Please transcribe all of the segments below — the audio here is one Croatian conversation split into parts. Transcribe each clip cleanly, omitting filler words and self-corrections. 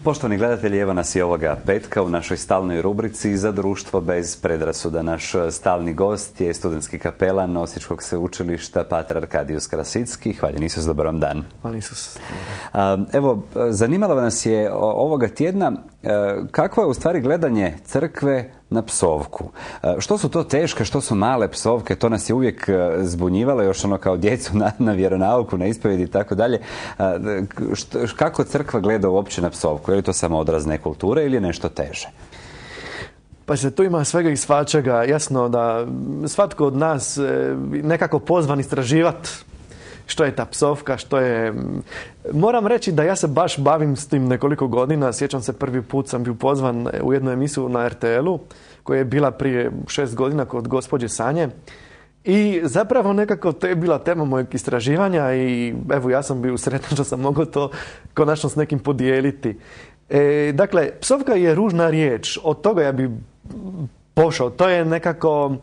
Poštovani gledatelji, evo nas i ovoga petka u našoj stalnoj rubrici Za društvo bez predrasuda. Naš stalni gost je studentski kapelan Osječkog sveučilišta Pater Arkadijus Krasicki. Hvaljen Isus, dobar vam dan. Hvaljen Isus. Evo, zanimalo nas je ovoga tjedna kakvo je u stvari gledanje crkve na psovku. Što su to teške, što su male psovke, to nas je uvijek zbunjivalo, još ono kao djecu na vjeronauku, na ispovjedi i tako dalje. Kako crkva gleda uopće na psovku? Je li to samo odraz nekulture ili je nešto teže? Pa se tu ima svega i svačega. Jasno da svatko od nas nekako pozvan istraživati što je ta psovka, što je... Moram reći da ja se baš bavim s tim nekoliko godina. Sjećam se, prvi put sam bio pozvan u jednu emisiju na RTL-u koja je bila prije 6 godina kod gospođe Sanje. I zapravo nekako to je bila tema mojeg istraživanja i evo ja sam bio sretan što sam mogao to konačno s nekim podijeliti. Dakle, psovka je ružna riječ. Od toga ja bi pošao. To je nekako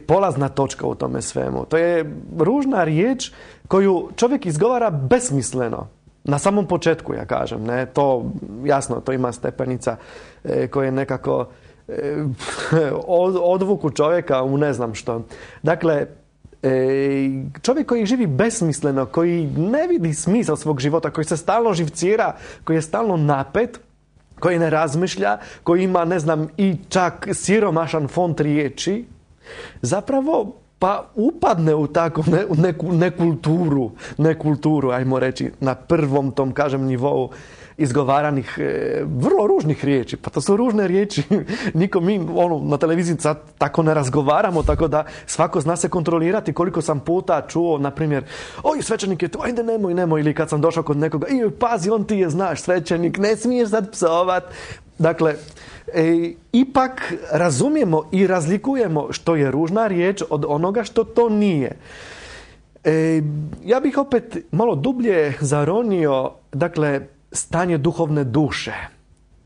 polazna točka u tome svemu. To je ružna riječ koju čovjek izgovara besmisleno. Na samom početku, ja kažem. Ne? To, jasno, to ima stepenica koje nekako odvuku čovjeka u ne znam što. Dakle, čovjek koji živi besmisleno, koji ne vidi smisao svog života, koji se stalno živcira, koji je stalno napet, koji ne razmišlja, koji ima, ne znam, i čak siromašan font riječi, zapravo pa upadne u takvu neku nekulturu, ajmo reći, na prvom tom, kažem, nivou izgovaranih vrlo ružnih riječi. Pa to su ružne riječi. Niko mi na televiziji sad tako ne razgovaramo, tako da svako zna se kontrolirati. Koliko sam puta čuo, na primjer, oj, svećenik je tu, ajde nemoj, ili kad sam došao kod nekoga, pazi, on ti je, znaš, svećenik, ne smiješ sad psovat. Dakle, ipak razumijemo i razlikujemo što je ružna riječ od onoga što to nije. Ja bih opet malo dublje zaronio, dakle, stanje duhovne duše.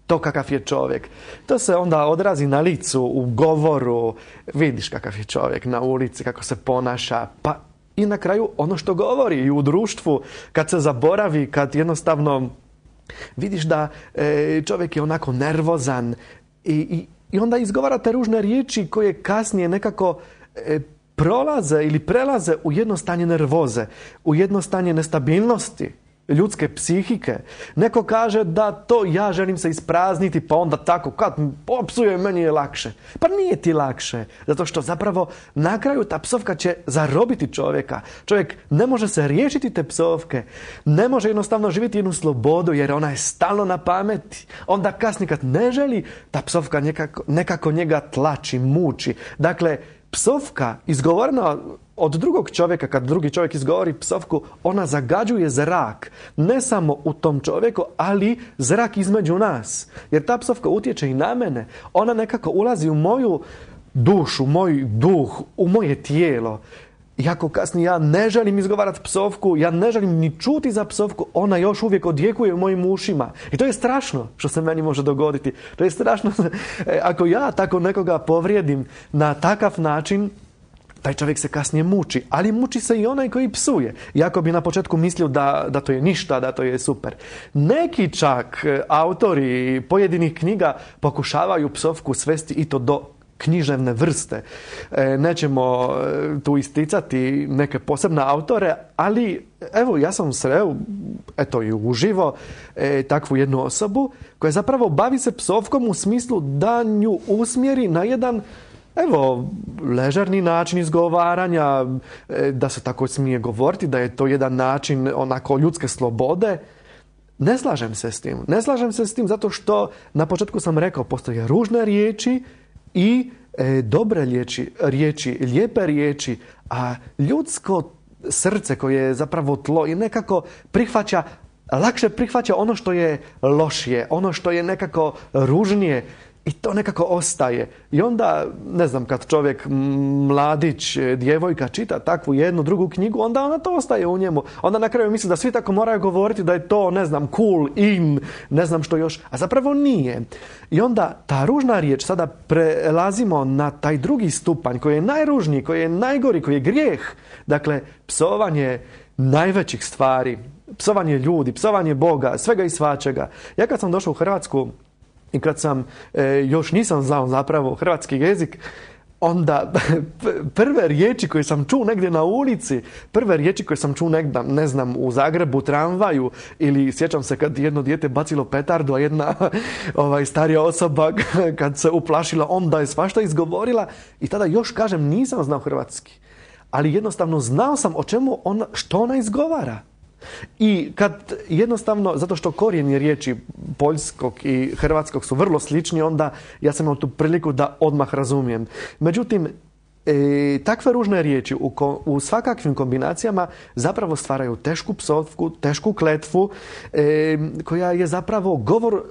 To kakav je čovjek. To se onda odrazi na licu, u govoru. Vidiš kakav je čovjek na ulici, kako se ponaša. Pa i na kraju ono što govori i u društvu. Kad se zaboravi, kad jednostavno vidiš da čovjek je onako nervozan i onda izgovara te ružne riječi koje kasnije nekako prolaze ili prelaze u jedno stanje nervoze, u jedno stanje nestabilnosti ljudske psihike. Neko kaže da to ja želim se isprazniti, pa onda tako, kad popsuje, meni je lakše. Pa nije ti lakše, zato što zapravo na kraju ta psovka će zarobiti čovjeka. Čovjek ne može se riješiti te psovke, ne može jednostavno živjeti jednu slobodu, jer ona je stalno na pameti. Onda kasnije kad ne želi, ta psovka nekako njega tlači, muči. Dakle, psovka izgovorena od drugog čovjeka, kad drugi čovjek izgovori psovku, ona zagađuje zrak. Ne samo u tom čovjeku, ali zrak između nas. Jer ta psovka utječe i na mene. Ona nekako ulazi u moju dušu, moj duh, u moje tijelo. Iako kasnije ja ne želim izgovarati psovku, ja ne želim ni čuti za psovku, ona još uvijek odjekuje u mojim ušima. I to je strašno što se meni može dogoditi. To je strašno ako ja tako nekoga povrijedim na takav način, taj čovjek se kasnije muči, ali muči se i onaj koji psuje. Iako bi na početku mislio da to je ništa, da to je super. Neki čak autori pojedinih knjiga pokušavaju psovku svesti i to do književne vrste. Nećemo tu isticati neke posebne autore, ali evo ja sam sreo, eto i uživo, takvu jednu osobu koja zapravo bavi se psovkom u smislu da nju usmjeri na jedan ležerni način izgovaranja, da se tako smije govoriti, da je to jedan način onako ljudske slobode. Ne slažem se s tim. Ne slažem se s tim zato što na početku sam rekao, postoje ružne riječi i dobre riječi, lijepe riječi, a ljudsko srce koje je zapravo tlo i nekako lakše prihvaća ono što je lošije, ono što je nekako ružnije. I to nekako ostaje. I onda, ne znam, kad čovjek, mladić, djevojka čita takvu jednu, drugu knjigu, onda ona to ostaje u njemu. Onda na kraju misli da svi tako moraju govoriti da je to, ne znam, cool, in, ne znam što još. A zapravo nije. I onda ta ružna riječ, sada prelazimo na taj drugi stupanj koji je najružniji, koji je najgori, koji je grijeh. Dakle, psovanje najvećih stvari. Psovanje ljudi, psovanje Boga, svega i svačega. Ja kad sam došao u Hrvatsku i kad sam još nisam znao zapravo hrvatski jezik, onda prve riječi koje sam čuo negdje na ulici, prve riječi koje sam čuo negdje, ne znam, u Zagrebu, tramvaju, ili sjećam se kad jedno dijete bacilo petardu, a jedna starija osoba kad se uplašila, onda je svašta izgovorila i tada još kažem nisam znao hrvatski. Ali jednostavno znao sam o čemu što ona izgovara. I kad jednostavno, zato što korijeni riječi poljskog i hrvatskog su vrlo slični, onda ja sam imao tu priliku da odmah razumijem. Međutim, takve ružne riječi u svakakvim kombinacijama zapravo stvaraju tešku psovku, tešku kletvu, koja je zapravo govor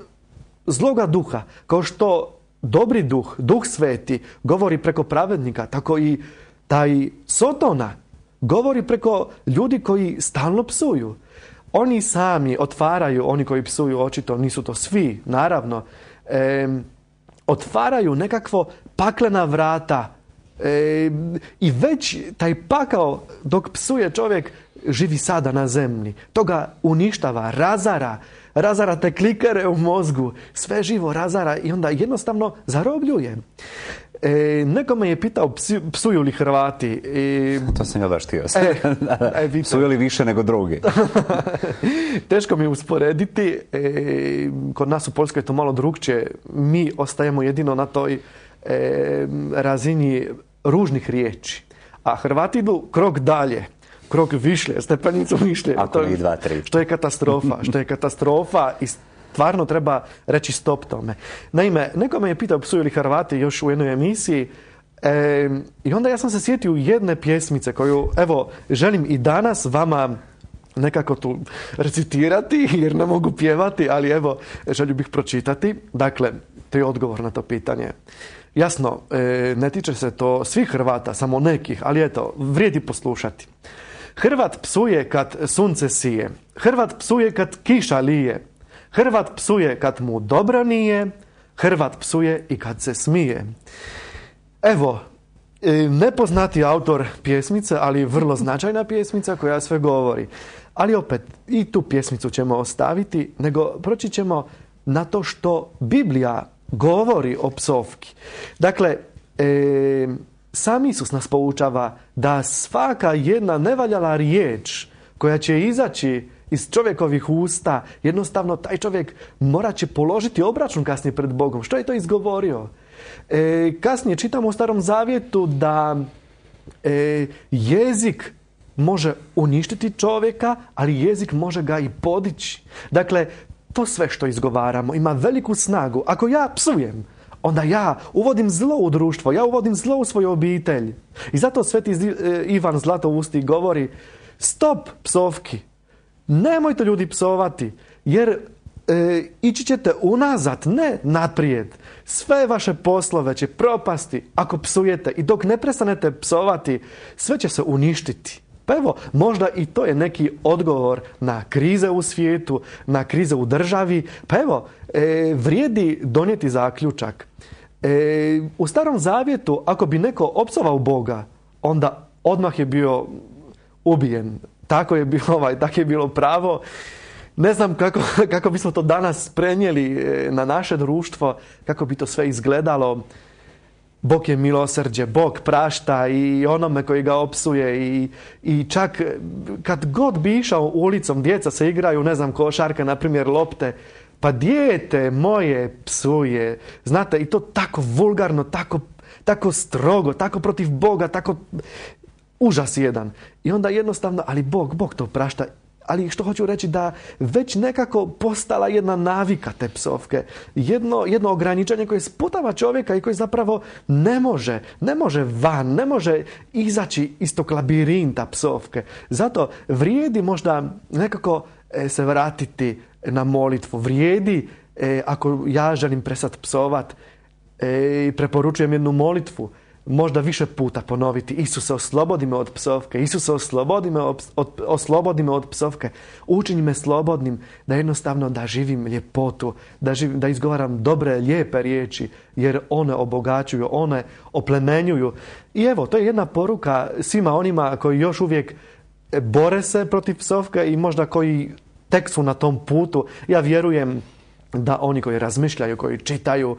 zloga duha. Kao što dobri duh, duh sveti, govori preko pravednika, tako i taj Sotona govori preko ljudi koji stalno psuju. Oni sami otvaraju, oni koji psuju, očito nisu to svi, naravno, otvaraju nekakvo paklena vrata i već taj pakao dok psuje čovjek živi sada na zemlji. To ga uništava, razara te klikere u mozgu, sve živo razara i onda jednostavno zarobljuje. Neko me je pitao psuju li Hrvati. To sam ja baš htio. Psuju li više nego drugi? Teško mi je usporediti. Kod nas u Poljskoj je to malo drugčije. Mi ostajemo jedino na toj razini ružnih riječi. A Hrvati idu krok dalje. Krok višlje, stepenicu višlje. Ako ne i 2, 3. Što je katastrofa i stvarno treba reći stop tome. Naime, neko me je pitao psuju li Hrvati još u jednoj emisiji i onda ja sam se sjetio jedne pjesmice koju, evo, želim i danas vama nekako tu recitirati jer ne mogu pjevati, ali evo, želim bih pročitati. Dakle, to je odgovor na to pitanje. Jasno, ne tiče se to svih Hrvata, samo nekih, ali eto, vrijedi poslušati. Hrvat psuje kad sunce sije, Hrvat psuje kad kiša lije, Hrvat psuje kad mu dobro nije, Hrvat psuje i kad se smije. Evo, nepoznati autor pjesmice, ali vrlo značajna pjesmica koja sve govori. Ali opet, i tu pjesmicu ćemo ostaviti, nego proći ćemo na to što Biblija govori o psovki. Dakle, sam Isus nas poučava da svaka jedna nevaljala riječ koja će izaći iz čovjekovih usta, jednostavno taj čovjek morat će položiti obračun kasnije pred Bogom. Što je to izgovorio? Kasnije čitamo u Starom Zavjetu da jezik može uništiti čovjeka, ali jezik može ga i podići. Dakle, to sve što izgovaramo ima veliku snagu. Ako ja psujem, onda ja uvodim zlo u društvo, ja uvodim zlo u svoju obitelj. I zato sveti Ivan Zlatousti govori stop psovki. Nemojte ljudi psovati, jer ići ćete unazad, ne naprijed. Sve vaše poslove će propasti ako psujete i dok ne prestanete psovati, sve će se uništiti. Pa evo, možda i to je neki odgovor na krize u svijetu, na krize u državi. Pa evo, vrijedi donijeti zaključak. U Starom Zavjetu, ako bi neko opsovao Boga, onda odmah je bio ubijen. Tako je bilo pravo. Ne znam kako bismo to danas prenijeli na naše društvo, kako bi to sve izgledalo. Bog je milosrđe, Bog prašta i onome koji ga opsuje i čak kad god bi išao ulicom, djeca se igraju, ne znam, košarka, na primjer lopte, pa dijete moje psuje. Znate, i to tako vulgarno, tako strogo, tako protiv Boga, tako užas jedan. I onda jednostavno, ali Bog to prašta. Ali što hoću reći da već nekako postala jedna navika te psovke. Jedno ograničenje koje sputava čovjeka i koji zapravo ne može van, ne može izaći iz tog labirinta psovke. Zato vrijedi možda nekako se vratiti na molitvu. Vrijedi, ako ja želim prestati psovat, preporučujem jednu molitvu. Možda više puta ponoviti. Isuse, oslobodi me od psovke. Isuse, oslobodi me od psovke. Učini me slobodnim da jednostavno da živim ljepotu, da izgovaram dobre, lijepe riječi, jer one obogaćuju, one oplemenjuju. I evo, to je jedna poruka svima onima koji još uvijek bore se protiv psovka i možda koji tek su na tom putu. Ja vjerujem da oni koji razmišljaju, koji čitaju,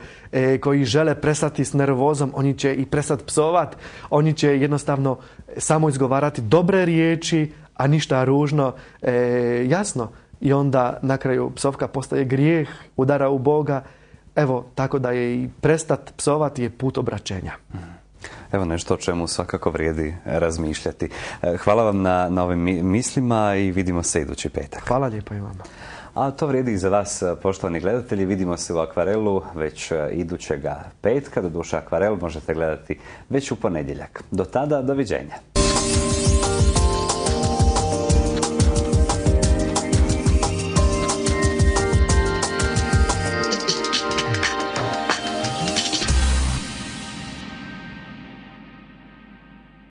koji žele prestati s nervozom, oni će i prestati psovat, oni će jednostavno samo izgovarati dobre riječi, a ništa ružno. Jasno. I onda na kraju psovka postaje grijeh, udara u Boga. Evo, tako da je i prestat psovati je put obraćenja. Evo nešto o čemu svakako vrijedi razmišljati. Hvala vam na ovim mislima i vidimo se idući petak. Hvala lijepo i vama. A to vrijedi i za vas, poštovani gledatelji. Vidimo se u Akvarelu već idućega petka. Doduše, Akvarel možete gledati već u ponedjeljak. Do tada, doviđenja.